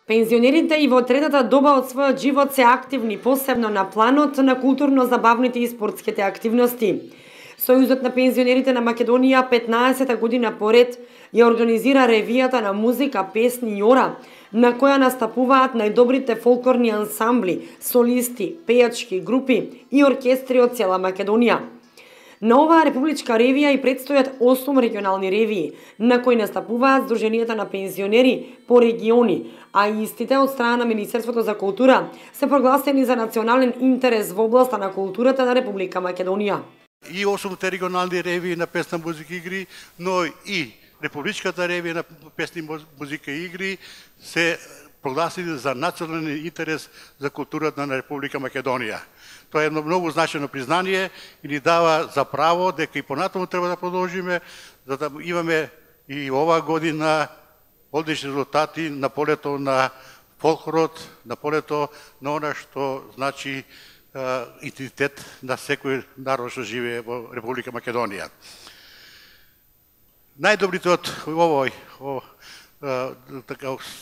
Пензионерите и во третата доба од својот живот се активни, посебно на планот на културно-забавните и спортските активности. Сојузот на пензионерите на Македонија 15-та година поред ја организира ревијата на музика, песни и ора, на која настапуваат најдобрите фолклорни ансамбли, солисти, пејачки групи и оркестри од цела Македонија. На оваа републичка ревија и предстојат 8 регионални ревии, на кои настапуваат Сдруженијата на пензионери по региони, а истите од страна на Министерството за култура се прогласени за национален интерес во областа на културата на Република Македонија. И 8 регионални ревии на песна, музика и игри, но и републичката ревија на песни, музика и игри се прогласени за национален интерес за културата на Република Македонија. Тоа е едно многу значено признание и ни дава за право дека и понатаму треба да продолжиме, за да имаме и оваа година одлични резултати на полето на фолклорот, на полето на она што значи идентитет на секој народ што живее во Република Македонија. Најдобрите од овој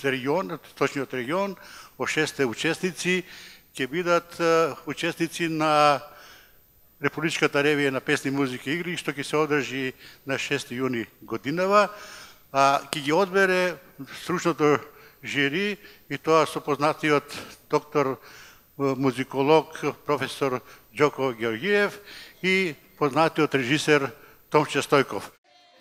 регион, точниот регион, во 6 учесници ќе бидат учесници на Републичката ревија на песни, музика и игри, што ќе се одржи на 6 јуни годинава, ќе ги одбере стручното жири и тоа со познатиот доктор музиколог професор Џоко Георгиев и познатиот режисер Томче Стојков.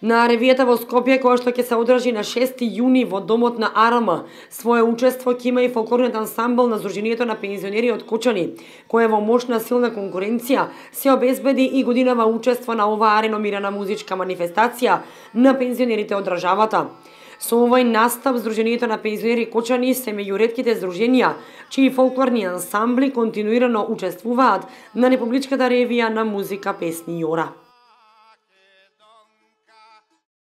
На ревијата во Скопје, која што ќе се одржи на 6 јуни во домот на АРМ, свое учество ќе има и фолклорниот ансамбл на Сдруженијето на пензионери од Кочани, кој во мощна силна конкуренција се обезбеди и годинава учество на оваа реномирана музичка манифестација на пензионерите од државата. Со овој настап Сдруженијето на пензионери Кочани се меѓу ретките здруженија чии фолклорни ансамбли континуирано учествуваат на Републичката ревија на музика, песни и ора.